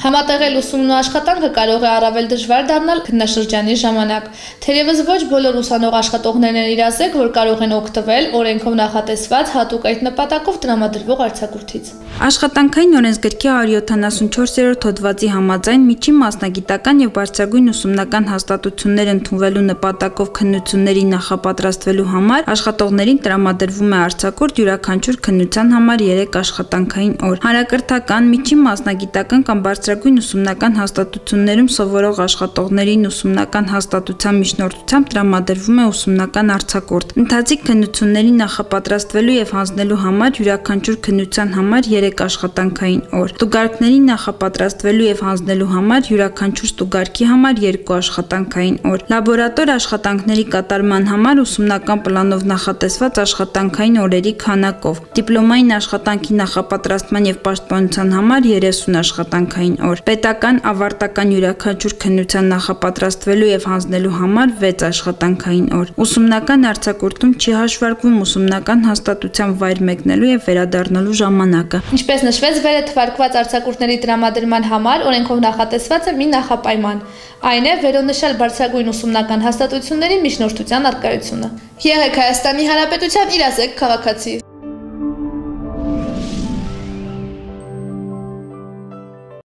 Համատեղել ուսումն ու աշխատանքը կարող է առավել դժվար դառնալ քննաշրջանի ժամանակ։ Թերևս ոչ բոլոր ուսանող աշխատողներն են իրազեկ, որ կարող են օգտվել օրենքով նախատեսված հատուկ այդ նպատակով տրամադրվող արձակուրդից։ Աշխատանքային օրենսգրքի 174-րդ հոդվածի համաձայն միջին մասնագիտական եւ բարձրագույն ուսումնական հաստատություններ ընդունվելու նպատակով քննությունների նախապատրաստվելու համար աշխատողներին տրամադրվում է արձակուրդ յուրաքանչյուր քննության համար 3 աշխատանքային օր։ Հանրակրթական, միջին մասնագիտական կամ բարձրագույն ուսումնական հաստատություններում սովորող աշխատողներին ուսումնական հաստատության միջնորդությամբ տրամադրվում է ուսումնական արձակուրդ։ Ընթացիկ քննությունների նախապատրաստվելու եւ հանձնելու համար յուրաքանչյուր քննության համար 3 աշխատանքային օր։ Ստուգարկների նախապատրաստվելու եւ հանձնելու համար յուրաքանչյուր ստուգարկի համար 2 աշխատանքային օր։ Լաբորատոր աշխատանքների կատարման համար ուսումնական պլանով նախատեսված աշխատանքային օրերի քանակով։ Դիպլոմային աշխատանքի նախապատրաստման եւ պաշտպանության համար 30 աշխատանքային օր։ Պետական ավարտական յուրաքանչյուր քննության նախապատրաստվելու եւ հանձնելու համար 6 աշխատանքային օր։ Ուսումնական արձակուրդում չի հաշվարկվում ուսումնական հաստատության վայր մեկնելու եւ վերադառնալու ժամանակը։ Ինչպես նշվեց, վերը թվարկված արձակուրդների տրամադրման համար օրենքով նախատեսված է մի նախապայման։ Այն է վերոնշյալ բարձրագույն ուսումնական հաստատությունների միջնորդության առկայությունը։ Եղեք Հայաստանի Հանրապետության իրազեկ քաղաքացի։